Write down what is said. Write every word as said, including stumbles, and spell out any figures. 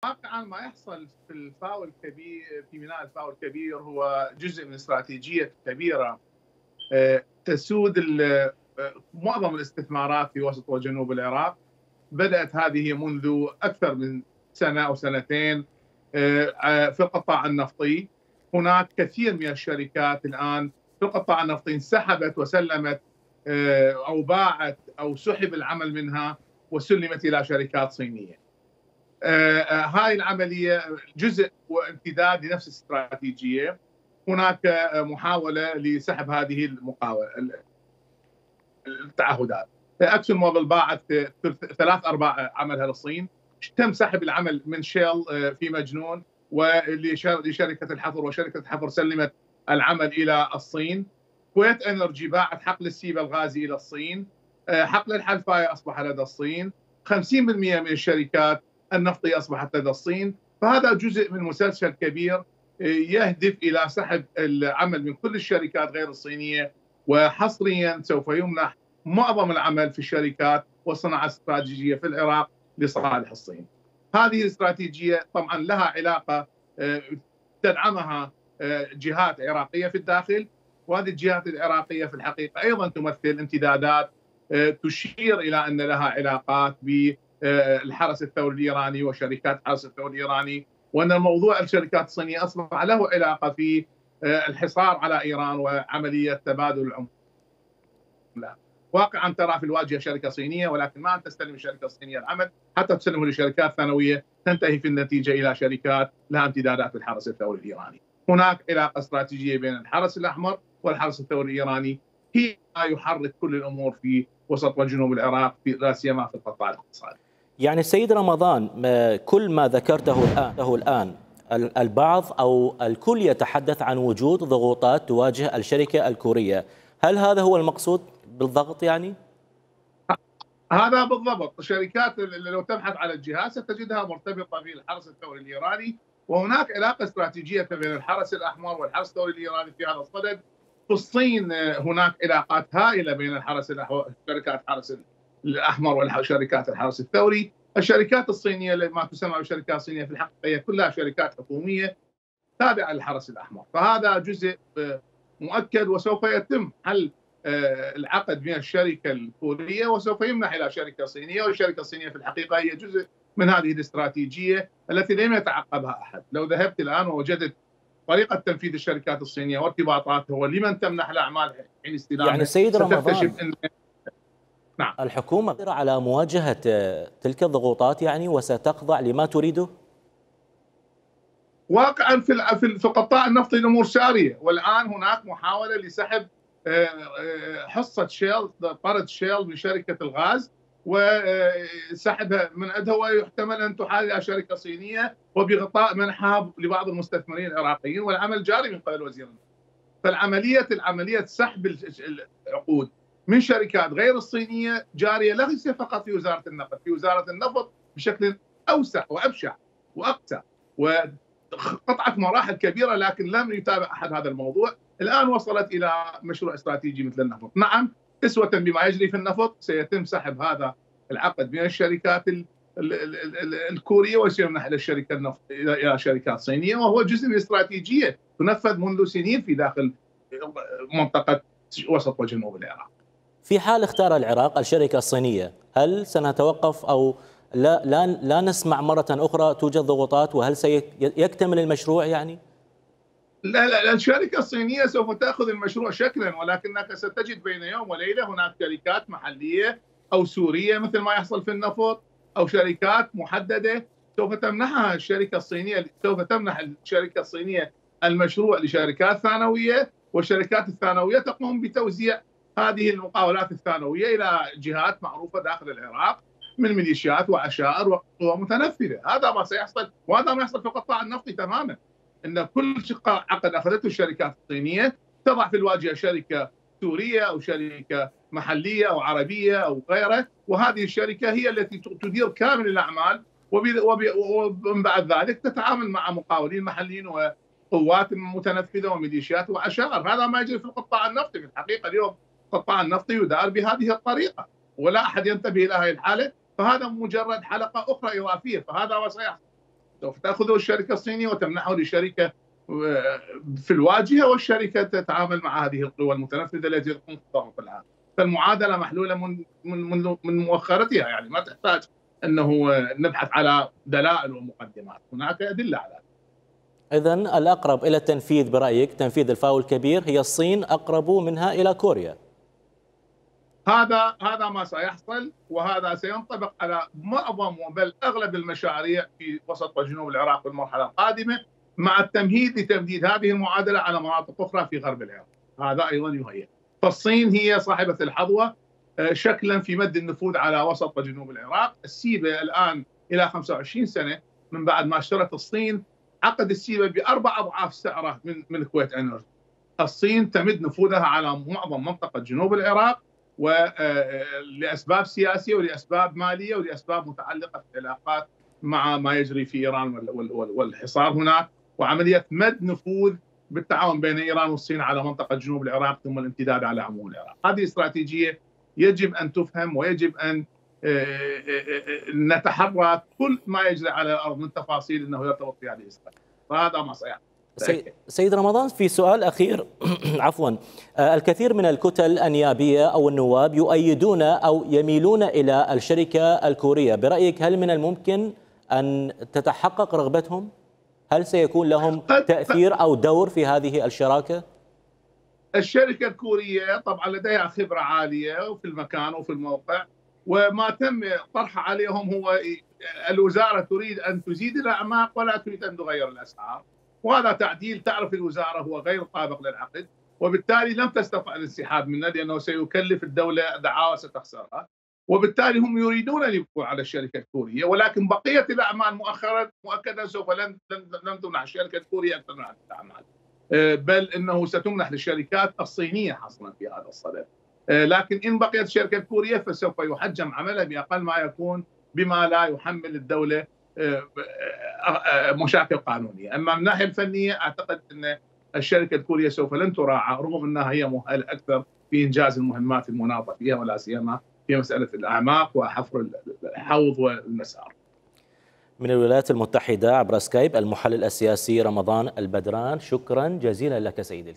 واقعا ما يحصل في الفاو الكبير، في ميناء الفاو الكبير، هو جزء من استراتيجيه كبيره تسود معظم الاستثمارات في وسط وجنوب العراق. بدات هذه منذ اكثر من سنه او سنتين في القطاع النفطي. هناك كثير من الشركات الان في القطاع النفطي انسحبت وسلمت او باعت او سحب العمل منها وسلمت الى شركات صينيه. هاي العمليه جزء وامتداد لنفس الاستراتيجيه. هناك محاوله لسحب هذه المقاوله التعهدات. اكسون موبيل باعت ثلاث ارباع عملها للصين. تم سحب العمل من شيل في مجنون ولشركه الحفر، وشركه الحفر سلمت العمل الى الصين. كويت انرجي باعت حقل السيبه الغازي الى الصين. حقل الحلفايه اصبح لدى الصين. خمسين بالمئة من الشركات النفطيه اصبحت لدى الصين. فهذا جزء من مسلسل كبير يهدف الى سحب العمل من كل الشركات غير الصينيه، وحصريا سوف يمنح معظم العمل في الشركات والصناعه الاستراتيجيه في العراق لصالح الصين. هذه الاستراتيجيه طبعا لها علاقه تدعمها جهات عراقيه في الداخل، وهذه الجهات العراقيه في الحقيقه ايضا تمثل امتدادات تشير الى ان لها علاقات بالحرس الثوري الايراني وشركات الحرس الثوري الايراني، وان الموضوع الشركات الصينيه اصبح له علاقه في الحصار على ايران وعمليه تبادل العملات. واقعا ترى في الواجهه شركه صينيه، ولكن ما ان تستلم الشركه الصينيه العمل حتى تسلمه لشركات ثانويه تنتهي في النتيجه الى شركات لها امتدادات في الحرس الثوري الايراني. هناك علاقه استراتيجيه بين الحرس الاحمر والحرس الثوري الايراني هي ما يحرك كل الامور في وسط وجنوب العراق، في لا سيما في القطاع الاقتصادي. يعني السيد رمضان، كل ما ذكرته الان الان البعض او الكل يتحدث عن وجود ضغوطات تواجه الشركه الكوريه، هل هذا هو المقصود بالضغط يعني؟ هذا بالضبط. الشركات لو تبحث على الجهات ستجدها مرتبطه بالحرس الثوري الايراني، وهناك علاقه استراتيجيه بين الحرس الاحمر والحرس الثوري الايراني في هذا الصدد. في الصين هناك علاقات هائله بين الحرس شركات الحرس الاحمر وشركات الحرس الثوري. الشركات الصينيه ما تسمى بالشركات الصينيه في الحقيقه هي كلها شركات حكوميه تابعه للحرس الاحمر، فهذا جزء مؤكد وسوف يتم حل العقد بين الشركه الكوريه وسوف يمنح الى شركه صينيه، والشركه الصينيه في الحقيقه هي جزء من هذه الاستراتيجيه التي لم يتعقبها احد. لو ذهبت الان ووجدت طريقه تنفيذ الشركات الصينيه وارتباطاتها ولمن تمنح الاعمال حين استلامها، يعني السيد رمضان إن... نعم. الحكومه قادره على مواجهه تلك الضغوطات يعني وستخضع لما تريده؟ واقعا في في القطاع النفطي الامور ساريه، والان هناك محاوله لسحب حصه شيل، طرد شيل من شركه الغاز وسحبها من عندها، ويحتمل ان تحال الى شركه صينيه وبغطاء منحها لبعض المستثمرين العراقيين، والعمل جاري من قبل وزير النفط. فالعمليه العمليه سحب العقود من شركات غير الصينيه جاريه ليس فقط في وزاره النفط، في وزاره النفط بشكل اوسع وابشع واقسى، وقطعت مراحل كبيره، لكن لم يتابع احد هذا الموضوع. الان وصلت الى مشروع استراتيجي مثل النفط. نعم، اسوه بما يجري في النفط سيتم سحب هذا العقد بين الشركات الكوريه وسيمنح الى الشركه النفط الى شركات صينيه، وهو جزء من استراتيجيه تنفذ منذ سنين في داخل منطقه وسط وجنوب العراق. في حال اختار العراق الشركه الصينيه، هل سنتوقف او لا لا لا نسمع مره اخرى توجد ضغوطات، وهل سيكتمل المشروع يعني؟ لا لا الشركه الصينيه سوف تاخذ المشروع شكلا، ولكنك ستجد بين يوم وليله هناك شركات محليه او سوريه مثل ما يحصل في النفط، او شركات محدده سوف تمنحها الشركه الصينيه، سوف تمنح الشركه الصينيه المشروع لشركات ثانويه، والشركات الثانويه تقوم بتوزيع هذه المقاولات الثانويه الى جهات معروفه داخل العراق من ميليشيات وعشائر وقوى متنفذه. هذا ما سيحصل، وهذا ما يحصل في القطاع النفطي تماما، ان كل عقد اخذته الشركات الصينيه تضع في الواجهه شركه سوريه او شركه محليه او عربيه او غيره، وهذه الشركه هي التي تدير كامل الاعمال، ومن بعد ذلك تتعامل مع مقاولين محليين وقوات متنفذه وميليشيات وعشائر. هذا ما يجري في القطاع النفطي في الحقيقه. اليوم القطاع النفطي يدار بهذه الطريقه ولا احد ينتبه الى هذه الحاله، فهذا مجرد حلقه اخرى اضافيه، فهذا ما سيحصل. سوف تأخذه الشركة الصينية وتمنحه لشركة في الواجهة، والشركة تتعامل مع هذه القوى المتنفذة التي تقوم بالتصرف العام. فالمعادلة محلولة من من من مؤخرتها، يعني ما تحتاج أنه نبحث على دلائل ومقدمات، هناك أدلة على ذلك. إذن الأقرب إلى التنفيذ برأيك تنفيذ الفاو الكبير هي الصين، أقرب منها إلى كوريا. هذا هذا ما سيحصل، وهذا سينطبق على معظم بل أغلب المشاريع في وسط وجنوب العراق في المرحلة القادمة، مع التمهيد لتمديد هذه المعادلة على مناطق أخرى في غرب العراق. هذا أيضا يهيئ. فالصين هي صاحبة الحظوة شكلا في مد النفوذ على وسط وجنوب العراق. السيبة الآن إلى خمسة وعشرين سنة من بعد ما اشترت الصين عقد السيبة بأربع أضعاف سعره من من كويت انرجي. الصين تمد نفوذها على معظم منطقة جنوب العراق، ولأسباب سياسية ولأسباب مالية ولأسباب متعلقة بالعلاقات مع ما يجري في إيران والحصار هناك، وعملية مد نفوذ بالتعاون بين إيران والصين على منطقة جنوب العراق ثم الامتداد على عموم العراق. هذه استراتيجية يجب أن تفهم، ويجب أن نتحرى كل ما يجري على الأرض من تفاصيل أنه يرتبط في هذه الاستراتيجية، فهذا ما سيحصل. سيد رمضان، في سؤال أخير عفوا، الكثير من الكتل النيابية أو النواب يؤيدون أو يميلون إلى الشركة الكورية، برأيك هل من الممكن أن تتحقق رغبتهم؟ هل سيكون لهم تأثير أو دور في هذه الشراكة؟ الشركة الكورية طبعا لديها خبرة عالية وفي المكان وفي الموقع، وما تم طرحه عليهم هو الوزارة تريد أن تزيد الأعماق ولا تريد أن تغير الأسعار، وهذا تعديل تعرف الوزارة هو غير طابق للعقد، وبالتالي لم تستطع الانسحاب منه لأنه سيكلف الدولة دعاوى ستخسرها، وبالتالي هم يريدون أن يبقوا على الشركة الكورية، ولكن بقية الأعمال مؤخرا مؤكدا سوف لن لن تمنح الشركة الكورية أكثر من هذه الأعمال، بل إنه ستمنح للشركات الصينية حصرا في هذا الصدد. لكن إن بقيت الشركة الكورية فسوف يحجم عملها بأقل ما يكون بما لا يحمل الدولة مشاكل قانونية. أما من الناحية الفنية أعتقد أن الشركة الكورية سوف لن تراعى، رغم أنها هي مؤهلة أكثر في إنجاز المهمات المناطة فيها، ولا سيما في مسألة الأعماق وحفر الحوض والمسار. من الولايات المتحدة عبر سكايب المحلل السياسي رمضان البدران، شكرا جزيلا لك سيدي.